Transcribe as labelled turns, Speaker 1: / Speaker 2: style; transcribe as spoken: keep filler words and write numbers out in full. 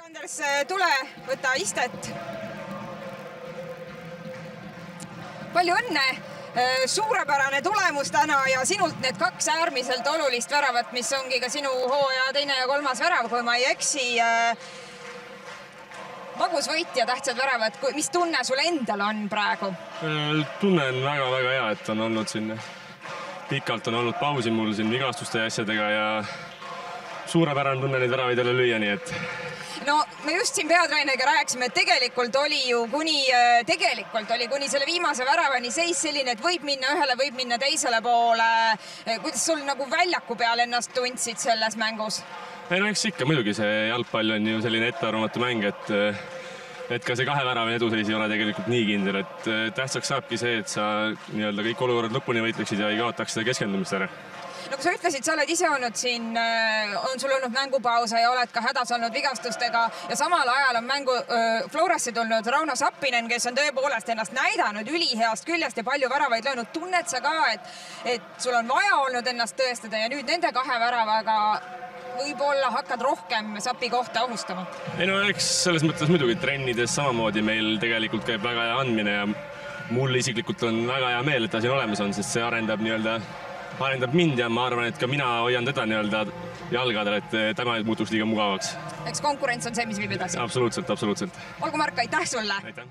Speaker 1: Anders, tule, võta istet. Palju õnne, suurepärane tulemus täna ja sinult need kaks äärmiselt olulist väravat, mis ongi ka sinu hooaja teine ja kolmas värav, kui ma ei eksi. Magus võit ja tähtsad väravad, mis tunne sul endal on praegu?
Speaker 2: Tunne on väga-väga hea, et on olnud siin pikalt on olnud pausi mul siin vigastuste ja asjadega ja suurepärane tunne neid väravaid jälle lüüa, nii et
Speaker 1: no me just siin peatreeneriga rääkisime, et tegelikult oli ju kuni, tegelikult oli kuni selle viimase väravani seis selline, et võib minna ühele, võib minna teisele poole. Kuidas sul nagu väljaku peal ennast tundsid selles mängus?
Speaker 2: Ei, no eks ikka, muidugi see jalgpall on ju selline ettearvamatu mäng, et, et ka see kahe väravani eduseis ei ole tegelikult nii kindel, et tähtsaks saabki see, et sa nii-öelda kõik olukorrad lõpuni võitleksid ja ei kaotaks seda keskendumist ära.
Speaker 1: No kui sa ütlesid, sa oled ise olnud siin, on sul olnud mängupausa ja oled ka hädas olnud vigastustega ja samal ajal on mängu Florasse tulnud Rauno Sappinen, kes on tõepoolest ennast näidanud üliheast küljest ja palju väravaid löönud. Tunned sa ka, et, et sul on vaja olnud ennast tõestada ja nüüd nende kahe väravaga võib-olla hakkad rohkem Sapi kohta ohustama?
Speaker 2: Ei no eks selles mõttes muidugi trennides samamoodi meil tegelikult käib väga hea andmine ja mul isiklikult on väga hea meel, et ta siin olemas on, sest see arendab nii-öelda arendab mind ja ma arvan, et ka mina hoian teda nii-öelda jalgadel, et tema ei muutuks liiga mugavaks.
Speaker 1: Eks konkurents on see, mis viib edasi?
Speaker 2: Absoluutselt, absoluutselt.
Speaker 1: Olgu Mark, aitäh sulle!
Speaker 2: Aitäh!